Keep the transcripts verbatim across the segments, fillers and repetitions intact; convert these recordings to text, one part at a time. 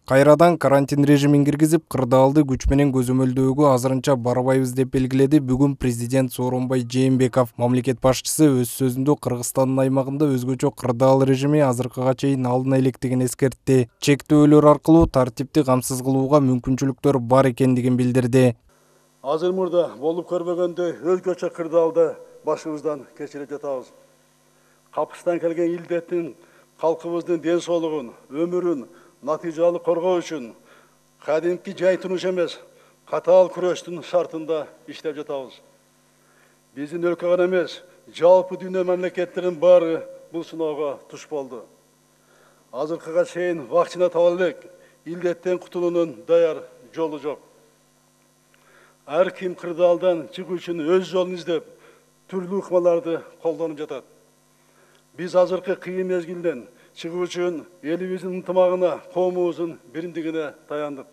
Кайрадан карантин режимин киргизип, кырдаалды күч менен көзөмөлдөөгө азырынча барбайбыз деп белгиледи бүгүн президент Сооронбай Жээнбеков. Мамлекет башчысы өз сөзүндө Кыргызстандын аймагында өзгөчө кырдаал режими азыркыга чейин алына электигин эскертти. Чектөөлөр аркылуу тартипти камсыз кылууга мүмкүнчүлүктөр бар экендигин билдирди. Азыр мурда болуп көрбөгөндөй өзгөчө кырдаалда башыбыздан кечире жатабыз. Капыстан келген илдеттин калкыбыздын ден соолугун, өмүрүн натыйжалуу коргоо үчүн кадимки жай турмуш эмес, катаал күрөштүн шартында иштеп жатабыз. Биздин өлкө гана эмес, жалпы дүйнө мамлекеттеринин баары бул сыноого туш болду. Азыркыга чейин вакцина таба элек, илдеттен кутулуунун даяр жолу жок. Ар ким кырдаалдан чыгуу үчүн өз жолун издеп, түрлүү ыкмаларды колдонуп жатат. Биз азыркы кыйын мезгилден чыгуу үчүн элибиздин ынтымагына, коомубуздун биримдигине таяндык.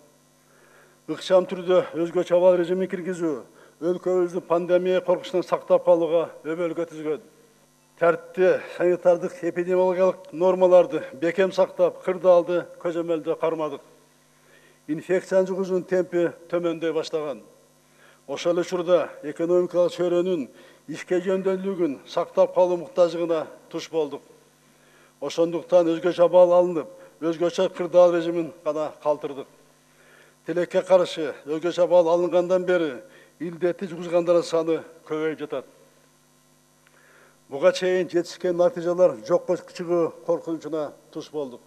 Ыкчам түрдө өзгөчө абал режимин киргизүү өлкөбүздү пандемия коркучунан сактап калууга өбөлгө түзгөн. Тартипти, санитардык эпидемиологиялык нормаларды бекем сактап, кырдаалды көзөмөлдө кармадык. Инфекциянын жугузуунун темпи төмөндөй баштаган. Ошол эле учурда экономикалык чөйрөнүн ишке жөндөмдүүлүгүн сактап калуу муктаждыгына туш болдук. Ошондуктан өзгөчө абал алынып, өзгөчө кырдаал режимин гана калтырдык. Тилекке каршы өзгөчө абал алынгандан бери илдетти жугузгандардын саны көбөйүп жатат. Буга чейин жетишкен натыйжалар жокко чыгуу коркунучуна туш болдук.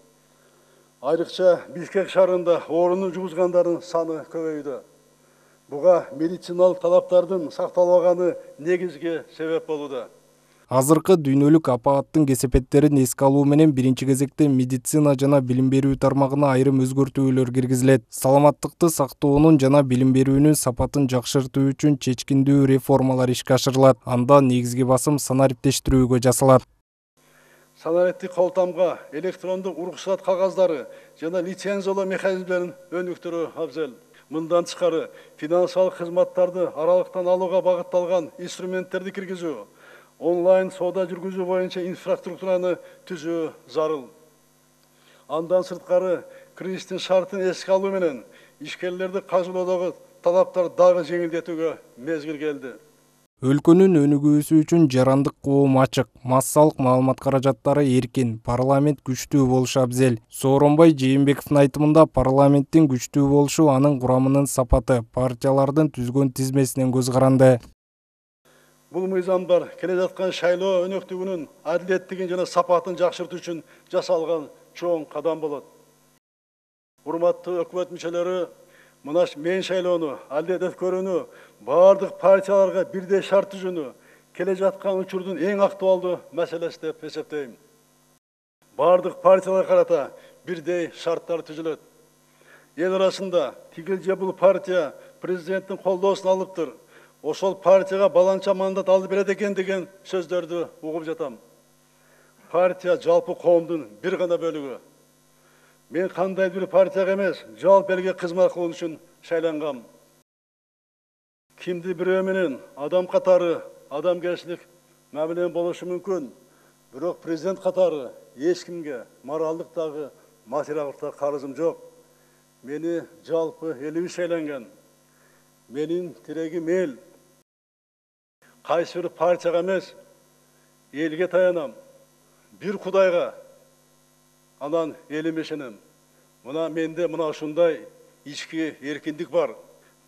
Айрыкча Бишкек шаарында оорууну жугузгандардын саны көбөйдү. Буга медициналык талаптардын сакталбаганы негизги себеп болууда. Азыркы дүйнөлүк апааттын кесепеттерин эске алуу менен биринчи кезекте медицина жана билим берүү тармагына айрым өзгөртүүлөр киргизилет. Саламаттыкты сактоонун жана билим берүүнүн сапатын жакшыртуу үчүн чечкиндүү реформалар ишке ашырылат. Анда негизги басым санариптештирүүгө жасалат. Санариптик колтамга электрондук уруксат кагаздары жана лицензиялоо механизмдерин өнүктүрүү абзел. Мындан тышкары финансылык кызматтарды аралыктан алууга багытталган инструменттерди киргизүү, онлайн соода жүргүзүү боюнча инфраструктураны түзүү зарыл. Андан сырткары кризистин шартын эске алуу менен ишкерлерди каржылоодогу талаптар дагы жеңилдетүүгө мезгил келди. Өлкөнүн өнүгүүсү үчүн жарандык коом ачык, массалык маалымат каражаттары эркин, парламент күчтүү болушу абзел. Сооронбай Жээнбековдун айтымында парламенттин күчтүү болушу анын курамынын сапаты, партиялардын түзгөн тизмесинен көз каранды. Бул мыйзамдар келе жаткан шайлоо өнөктүгүнүн адилеттигин жана сапатын жакшыртуу үчүн жасалган чоң кадам болот. Урматтуу өкмөт мүчөлөрү, мына мен шайлоону адилет өткөрүүнү бардык партияларга бирдей шарт түзүүнү келе жаткан учурдун эң актуалдуу маселеси деп эсептейм. Бардык партияларга карата бирдей шарттар түзүлөт. Эл арасында тигил же бул партия президенттин колдоосун алыптыр, ошол партияга баланча мандат алып берет экен деген сөздөрдү угуп жатам. Партия жалпы коомдун бир гана бөлүгү. Мен кандай бир партияга эмес, жалпы элге кызмат кылуу үчүн шайлангам. Кимди бирөө менен адам катары адамгерчилик мамиле болушу мүмкүн, бирок президент катары эч кимге моралдык дагы материалдык да карызым жок. Мени жалпы элибиз шайланган. Менин тирегим эл. Кайсы бир партияга эмес, элге таянам. Бир Кудайга, анан элиме ишенем. Мына менде мына ушундай ички эркиндик бар.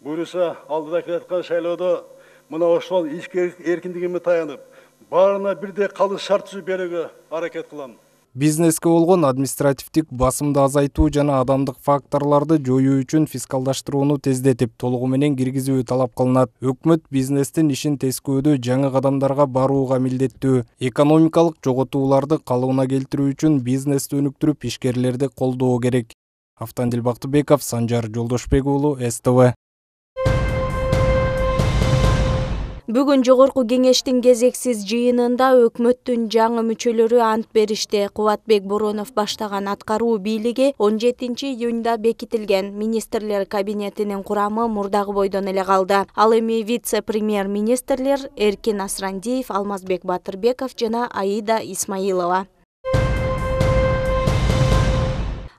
Буюрса алдыда келаткан шайлоодо мына ошол ички эркиндигиме таянып, баарына бирдей калыс шарт түзүп берүүгө аракет кылам. Бизнеске болгон административдик басымды азайтуу жана адамдык факторлорду жоюу үчүн фискалдаштырууну тездетип, толугу менен киргизүү талап кылынат. Өкмөт бизнестин ишин тескөөдө жаңы кадамдарга барууга милдеттүү. Экономикалык жоготууларды калыбына келтирүү үчүн бизнести өнүктүрүп, ишкерлерди колдоо керек. Автандил Бактыбеков, Санжар Жолдошбек уулу, эс тэ вэ. Бүгүн жогорку кеңештин кезексиз жыйынында өкмөттүн жаңы мүчөлөрү ант беришти. Кубатбек Боронов баштаган аткаруу бийлиги он жетинчи июнда бекитилген министрлер кабинетинин курамы мурдагы бойдон эле калды. Ал эми вице-премьер-министрлер Эркин Асрандиев, Алмазбек Батырбеков жана Аида Исмаилова.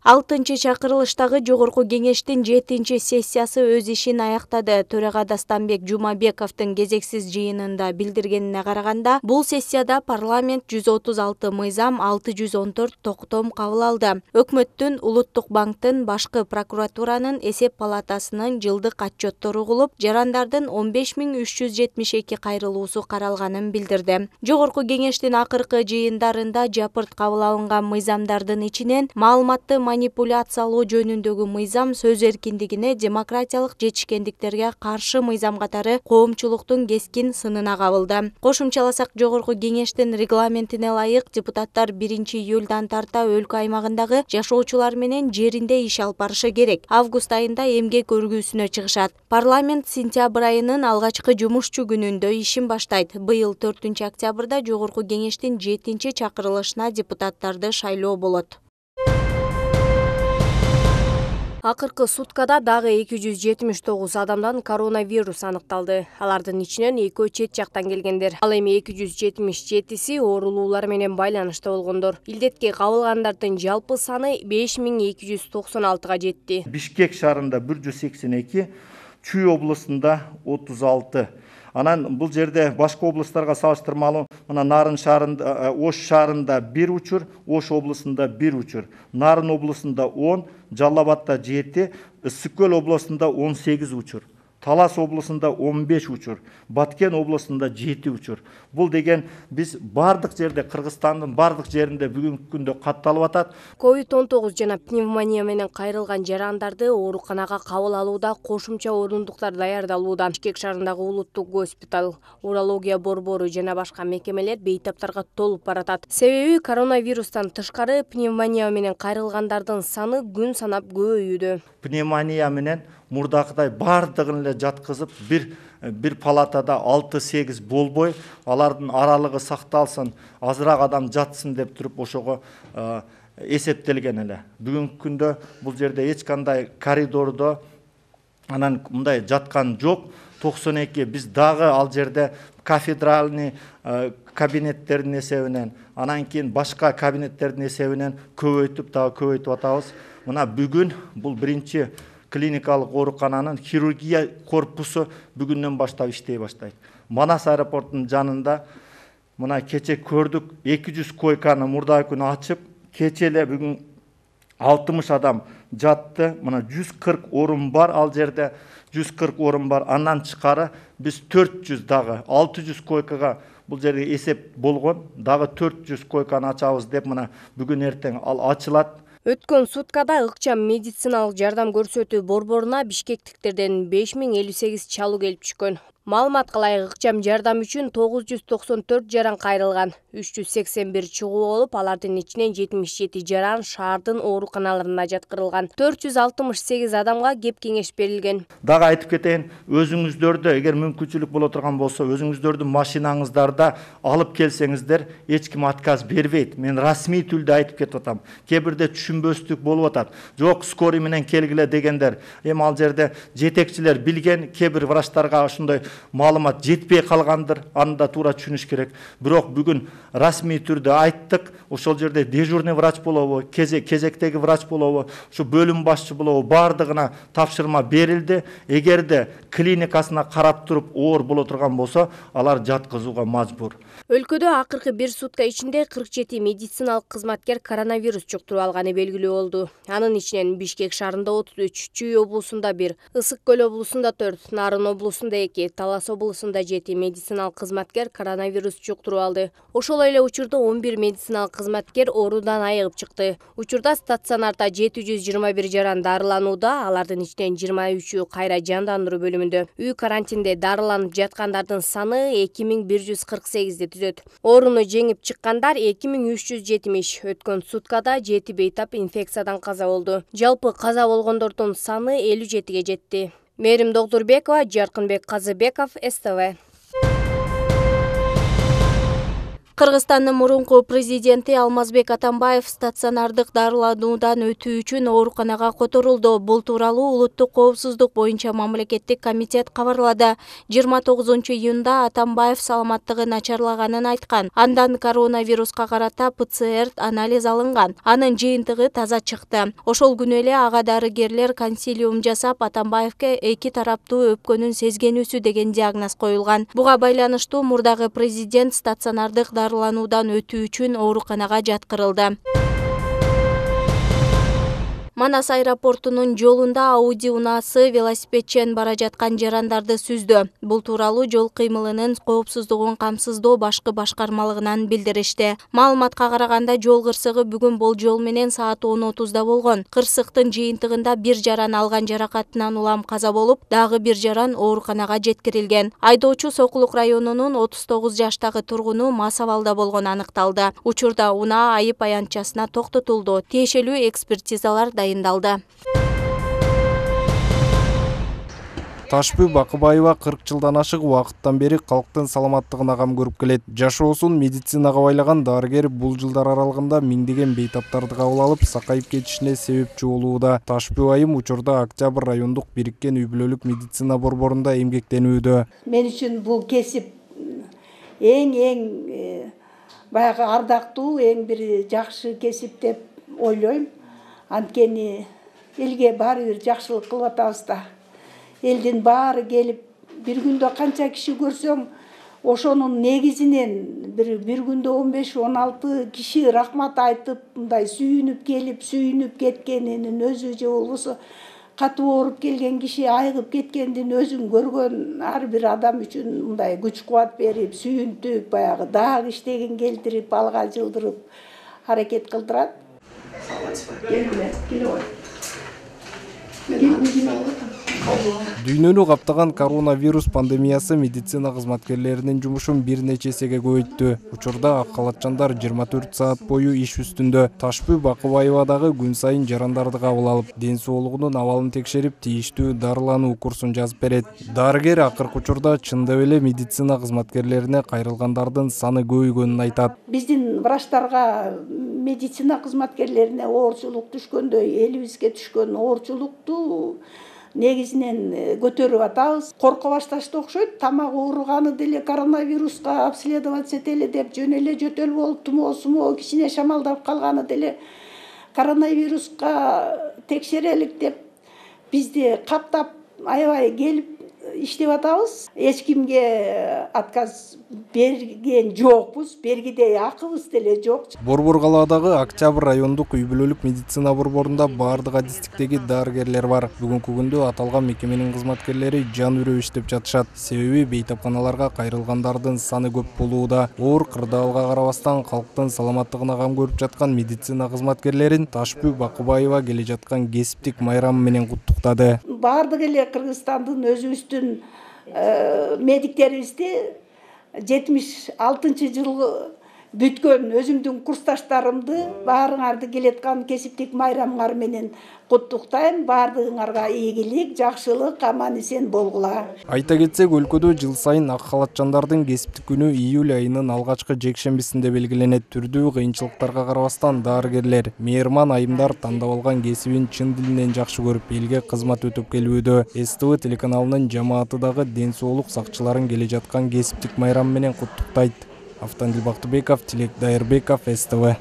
алтынчы чакырылыштагы жогорку кеңештин жетинчи сессиясы өз ишин аяктады. Төрага Дастанбек Жумабековдун кезексиз жыйынында билдиргенине караганда, бул сессияда парламент жүз отуз алты мыйзам, алты жүз он төрт токтом кабыл алды. Өкмөттүн, Улуттук банктын, башкы прокуратуранын, эсеп палатасынын жылдык отчеттору угулуп, жарандардын он беш миң үч жүз жетимиш эки кайрылуусу каралганын билдирди. Жогорку кеңештин акыркы жыйындарында жапырт кабыл алынган мыйзамдардын ичинен маалыматты манипуляциялоо жөнүндөгү мыйзам, сөз эркиндигине, демократиялык жетишкендиктерге каршы мыйзам катары коомчулуктун кескин сынына кабылды. Кошумчаласак, жогорку кеңештин регламентине ылайык депутаттар биринчи июлдан тарта өлкө аймагындагы жашоочулар менен жеринде иш алып барышы керек. Август айында эмгек өргүүсүнө чыгышат. Парламент сентябрь айынын алгачкы жумушчу күнүндө ишин баштайт. Быйыл төртүнчү октябрда жогорку кеңештин жетинчи чакырылышына депутаттарды шайлоо болот. Акыркы суткада дагы эки жүз жетимиш тогуз адамдан коронавирус аныкталды. Алардын ичинен экөө чет жактан келгендер. Ал эми эки жүз жетимиш жетиси оорулуулар менен байланышта болгондор. Илдетке кабылгандардын жалпы саны беш миң эки жүз токсон алтыга жетти. Бишкек шаарында бир жүз сексен эки, Чүй облусунда отуз алты. Анан бул жерде башка облустарга салыштырмалуу, мына Нарын шаарында, Ош шаарында бир учур, Ош облусунда бир учур, Нарын облусунда он, Жалал Абадта жети, Ысык Көл облусунда он сегиз учур, Талас облусунда он беш учур, Баткен облусунда жети учур. Бул деген биз бардык жерде, Кыргызстандын бардык жеринде бүгүнкү күндө катталып атат. ковид он тогуз жана пневмония менен кайрылган жарандарды ооруканага кабыл алууда кошумча орундуктар даярдалууда. Бишкек шаарындагы Улуттук госпиталь, урология борбору жана башка мекемелер бейтаптарга толуп баратат. Себеби коронавирустан тышкары пневмония менен кайрылгандардын саны күн санап көбөйүүдө. Пневмония менен мурдакыдай бардыгын эле жаткызып, бир бир палатада алты сегиз болбой, алардын аралыгы сакталсын, азыраак адам жатсын деп туруп ошого эсептелген эле. Бүгүнкү күндө бул жерде эч кандай коридордо анан мындай жаткан жок. токсон эки биз дагы ал жерде кафедральный кабинеттердин эсебинен, анан кийин башка кабинеттердин эсебинен көбөйтүп дагы көбөйтүп атабыз. Мына бүгүн бул биринчи клиникалык оорукананын хирургия корпусу бүгүндөн баштап иштей баштайт. Манас аэропортунун жанында мына кече көрдүк, эки жүз койканы мурдагы күнү ачып, кече эле бүгүн алтымыш адам жатты. Мына жүз кырк орун бар ал жерде, жүз кырк орун бар. Андан тышкары биз төрт жүз дагы алты жүз койкага бул жерге эсеп болгон, дагы төрт жүз койканы ачабыз деп мына бүгүн эртең ал ачылат. Өткөн суткада ыкчам медициналык жардам көрсөтүү борборуна бишкектиктерден беш миң элүү сегиз чалуу келип түшкөн. Маалыматка ылайык ыкчам жардам үчүн тогуз жүз токсон төрт жаран кайрылган, үч жүз сексен бир чыгуу болуп, алардын ичинен жетимиш жети жаран шаардын ооруканаларына жаткырылган. төрт жүз алтымыш сегиз адамга кеп кеңеш берилген. Дагы айтып кетейин, өзүңүздөрдө эгер мүмкүнчүлүк боло турган болсо, өзүңүздөрдүн машинаңыздарда алып келсеңиздер, эч ким отказ бербейт. Мен расмий түрдө айтып кетип атам. Кээ бирде түшүнбөстүк болуп атат. Жок, скорый менен келгиле дегендер. Эми ал жерде жетекчилер билген, кээ бир врачтарга ошондой маалымат жетпей калгандыр, аны да туура түшүнүш керек. Бирок бүгүн расмий түрдө айттык, ошол жерде дежурный врач болобу, кезектеги врач болобу, ушу бөлүм башчы болобу, бардыгына тапшырма берилди. Эгерде клиникасына карап туруп оор боло турган болсо, алар жаткызууга мажбур. Өлкөдө акыркы бир сутка ичинде кырк жети медициналык кызматкер коронавирус жуктуруп алганы белгилүү болду. Анын ичинен Бишкек шаарында отуз үч, Чүй облусунда бир, Ысык Көл облусунда төрт, Нарын облусунда эки, Талас облусунда жети медициналык кызматкер коронавирус жуктуруп алды. Ошол эле учурда он бир медициналык кызматкер оорудан айыгып чыкты. Учурда стационарда жети жүз жыйырма бир жаран дарыланууда, алардын ичинен жыйырма үчү кайра жандандыруу бөлүмүндө. Үй карантинде дарыланып жаткандардын саны эки миң бир жүз кырк сегизди түзөт. Ооруну жеңип чыккандар эки миң үч жүз жетимиш. Өткөн суткада жети бейтап инфекциядан каза болду. Жалпы каза болгондордун саны элүү жетиге жетти. Мээрим Догдурбекова, Жаркынбек Казыбеков, эс тэ вэ. Кыргызстандын мурунку президенти Алмазбек Атамбаев стационардык дарылануудан өтүү үчүн ооруканага которулду. Бул тууралуу улуттук коопсуздук боюнча мамлекеттик комитет кабарлады. жыйырма тогузунчу июнда Атамбаев саламаттыгы начарлаганын айткан. Андан коронавируска карата ПЦР анализ алынган. Анын жыйынтыгы таза чыкты. Ошол күнү эле ага дарыгерлер консилиум жасап, Атамбаевке эки тараптуу өпкөнүн сезгенүүсү деген диагноз коюлган. Буга байланыштуу мурдагы президент стационардык дарылануудан өтүү үчүн ооруканага жаткырылды. Манас аэропортунун жолунда Ауди унаасы велосипедчен бара жаткан жарандарды сүздү. Бул тууралуу жол кыймылынын коопсуздугун камсыздоо башкы башкармалыгынан билдиришти. Маалыматка караганда жол кырсыгы бүгүн болжол менен саат он отузда болгон. Кырсыктын жыйынтыгында бир жаран алган жаракатынан улам каза болуп, дагы бир жаран ооруканага жеткирилген. Айдоочу Сокулук районунун отуз тогуз жаштагы тургуну мас абалда болгону аныкталды. Учурда унаа айып аянтчасына токтотулду. Тиешелүү экспертизалар дайындалды. Ташпү Бакыбаева кырк жылдан ашык убакыттан бери калктын саламаттыгына кам көрүп келет. Жашоосун медицинага байлаган дарыгер бул жылдар аралыгында миңдеген бейтаптарды кабыл алып, сакайып кетишине себепчи болууда. Ташпү айым учурда Октябрь райондук бириккен үй бүлөлүк медицина борборунда эмгектенүүдө. Мен үчүн бул кесип эң эң баягы ардактуу, эң бир жакшы кесип деп ойлойм. Анткени элге баары бир жакшылык кылып атабыз да. Элдин баары келип, бир күндө канча киши көрсөң, ошонун негизинен бир бир күндө он беш он алты киши рахмат айтып, мындай сүйүнүп келип, сүйүнүп кеткенинин өзү же болбосо катуу ооруп келген киши айыгып кеткендин өзүн көргөн ар бир адам үчүн мындай күч кубат берип, сүйүнтүп, баягы дагы иштегин келтирип, алга жылдырып аракет кылдырат. Дүйнөнү каптаган коронавирус пандемиясы медицина кызматкерлеринин жумушун бир нече эсеге көбөйттү. Учурда ак халатчандар жыйырма төрт саат бою иш үстүндө. Ташпү Бакыбаева дагы күн сайын жарандарды кабыл алып, ден соолугунун абалын текшерип, тийиштүү дарылануу курсун жазып берет. Дарыгер акыркы учурда чындап эле медицина кызматкерлерине кайрылгандардын саны көбөйгөнүн айтат. Биздин врачтарга, медицина кызматкерлерине оорчулук түшкөндөй, элибизге түшкөн оорчулукту негизинен көтөрүп атабыз. Корко башташты окшойт. Тамак ооруганы деле коронавируска обследоваться этели деп жөн эле жөтөл болуп, тумоо сумоо кичине шамалдап калганы деле коронавируска текшерелик деп бизди каптап аябай келип иштеп атабыз. Эч кимге отказ берген жокпуз, бергидей акыбыз деле жок. Борбор калаадагы Октябрь райондук үй бүлөлүк медицина борборунда баардык адистиктеги дарыгерлер бар. Бүгүнкү күндө аталган мекеменин кызматкерлери жан үрүп иштеп жатышат. Себеби бейтапканаларга кайрылгандардын саны көп болууда. Оор кырдаалга карабастан калктын саламаттыгына кам көрүп жаткан медицина кызматкерлерин Ташпү Бакыбаева келе жаткан кесиптик майрамы менен куттуктады. Баардык эле Кыргызстандын өзүбүздүн медиктерибизди жетимиш алтынчы жылы бүткөн өзүмдүн курсташтарымды баарыңарды келеткан кесиптик майрамыңар менен куттуктайм. Баардыгыңарга ийгилик, жакшылык, аман эсен болгула. Айта кетсек, өлкөдө жыл сайын ак халатчандардын кесиптик күнү июль айынын алгачкы жекшембисинде белгиленет. Түрдүү кыйынчылыктарга карабастан дарыгерлер, мейырман айымдар тандап алган кесибин чын дилинен жакшы көрүп, элге кызмат өтүп келүүдө. эс тэ вэ телеканалынын жамааты дагы ден соолук сакчыларын келе жаткан кесиптик майрам менен куттуктайт. Автандил Бактыбеков, Тилек Дайырбеков, эс тэ вэ.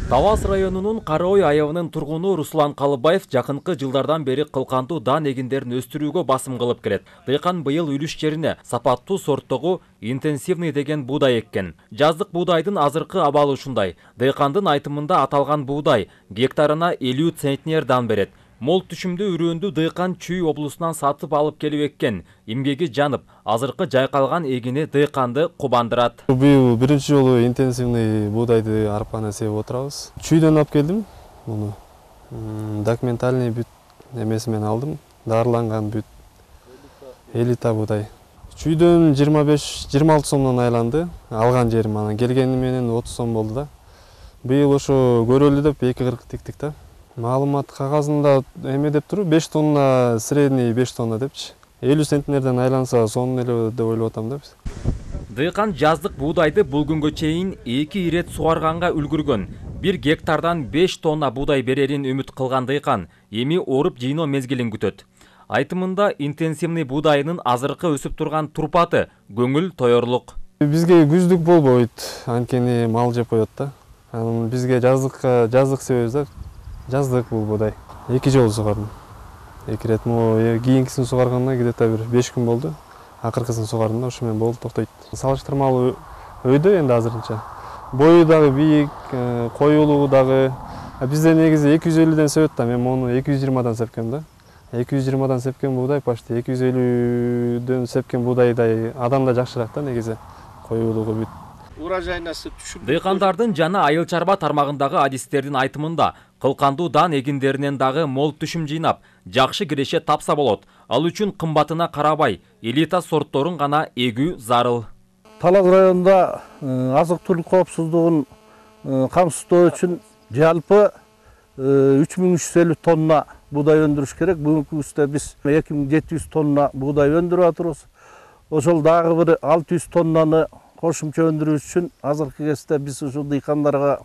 Тавас районунун Кара Ой айыбынын тургуну Руслан Калыбаев жакынкы жылдардан бери кылкандуу дан эгиндерин өстүрүүгө басым кылып келет. Дыйкан быйыл үлүш жерине сапаттуу сорттогу интенсивный деген буудай эккен. Жаздык буудайдын азыркы абалы ушундай. Дыйкандын айтымында аталган буудай гектарына элүү центнер дан берет. Мол түшүмдүү үрөөндү дыйкан Чүй облусунан сатып алып келип эккен. Эмгеги жанып, азыркы жайкалган эгини дыйканды кубандырат. Быйыл биринчи жолу интенсивный буудайды арпаны себип отурабыз. Чүйдөн алып келдим. Муну документальный бүт эмеси менен алдым. Дарыланган бүт. Элита буудай. Чүйдөн жыйырма беш жыйырма алты сомдон айланды. Алган жерим анан келгени менен отуз сом болду да. Быйыл ошо көрөлү деп эки кырк тиктик да. Маалымат кагазында эме деп туруп беш тонна, средний беш тонна депчи. элүү центнерден айланса сонун эле деп ойлоп атам да биз. Дыйкан жаздык буудайды бул күнгө чейин эки ирет сугарганга үлгүргөн. Бир гектардан беш тонна буудай берерин үмүт кылган дыйкан эми оруп жыйноо мезгилин күтөт. Айтымында интенсивный буудайынын азыркы өсүп турган турпаты көңүл тоёрлук. Бизге күздүк болбойт, анткени мал жеп коет да. Анан бизге жаздыкка жаздык себебиз да. Жаздык бул буудай. Эки жолу сугардым. Эки ирет могу кийинкисин сугарганына где-то бир беш күн болду. Акыркысын сугардым да, ушу менен болуп токтойт. Салыштырмалуу өйдө энди азырынча. Бою дагы бийик, коюлугу дагы. Бизде негизи эки жүз элүүдөн себет да, мен мону эки жүз жыйырмадан сепкем да. эки жүз жыйырмадан сепкен буудай почти эки жүз элүүдөн сепкен буудайдай адамда жакшыраак да негизи. Коюлугу бүт. Урожайнасы түшүп. Дыйкандардын жана айыл чарба тармагындагы адистердин айтымында кылкандуу дан эгиндеринен дагы мол түшүм жыйнап, жакшы киреше тапса болот. Ал үчүн кымбатына карабай, элита сортторун гана эгүү зарыл. Талас районунда азык-түлүк коопсуздугун камсыздоо үчүн жалпы үч миң үч жүз элүү тонна буудай өндүрүш керек. Бүгүнкү күндө биз эки миң жети жүз тонна буудай өндүрүп атабыз. Ошол дагы бир алты жүз тоннаны кошумча өндүрүү үчүн азыркы кезде биз ушул дыйкандарга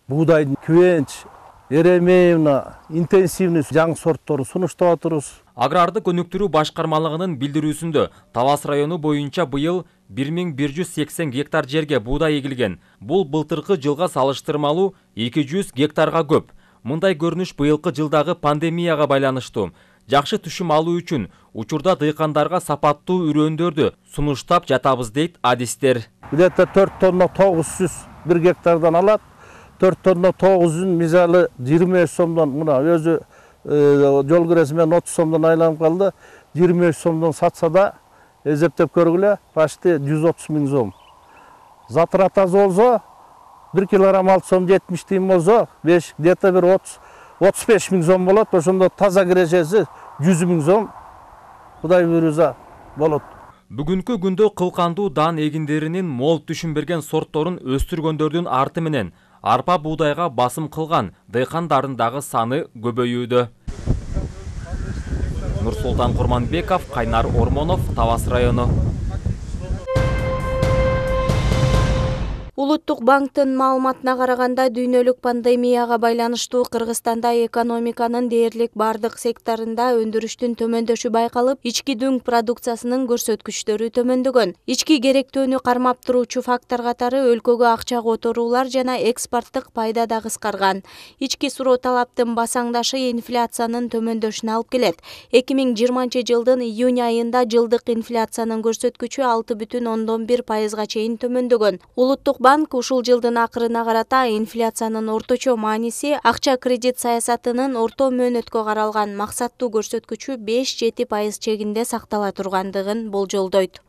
буудайдын Квенч, Еремеевна, интенсивный жаңы сортторун сунуштап атабыз. Аграрды өнүктүрүү башкармалыгынын билдирүүсүндө Талас району боюнча быйыл бир миң бир жүз сексен гектар жерге буудай эгилген. Бул былтыркы жылга салыштырмалуу эки жүз гектарга көп. Мындай көрүнүш быйылкы жылдагы пандемияга байланыштуу. Жакшы түшүм алуу үчүн учурда дыйкандарга сапаттуу үрөндөрдү сунуштап жатабыз дейт адистер. Где-то төрт тонна тогуз жүз бир гектардан алат. төрт тонна тогуз жүзүн мисалы жыйырма беш сомдон, мына өзү жол кирesi менен отуз сомдон айланып калды. жыйырма беш сомдон сатса да эсептеп көргүлө, почти жүз отуз миң сом. Затратасы болсо бир килограмм алты сом жетимиш тиын болсо, беш где-то бир отуз отуз беш миң сом болот. Ошондо таза кирешеси жүз миң сом. Кудай буйруса болот. Бүгүнкү күндө кылкандуу дан эгиндеринин мол түшүм берген сортторун өстүргөндөрдүн арты менен арпа буудайга басым кылган дыйкандардын дагы саны көбөйүүдө. Нурсултан Курманбеков, Кайнар Ормонов, Талас району. Улуттук банктын маалыматына караганда дүйнөлүк пандемияга байланыштуу Кыргызстанда экономиканын дээрлик бардык секторунда өндүрүштүн төмөндөшү байкалып, ички дүң продукциясынын көрсөткүчтөрү төмөндөгөн. Ички керектөөнү кармап туруучу фактор катары өлкөгө акча которуулар жана экспорттук пайда да кыскарган. Ички суроо талаптын басаңдашы инфляциянын төмөндөшүнө алып келет. эки миң жыйырманчы жылдын июнь айында жылдык инфляциянын көрсөткүчү алты бүтүн ондон бир пайызга чейин төмөндөгөн. Улуттук банк ушул жылдын акырына карата инфляциянын орточо мааниси акча кредит саясатынын орто мөөнөткө каралган максаттуу көрсөткүчү беш жети пайыз чегинде сактала тургандыгын болжолдойт.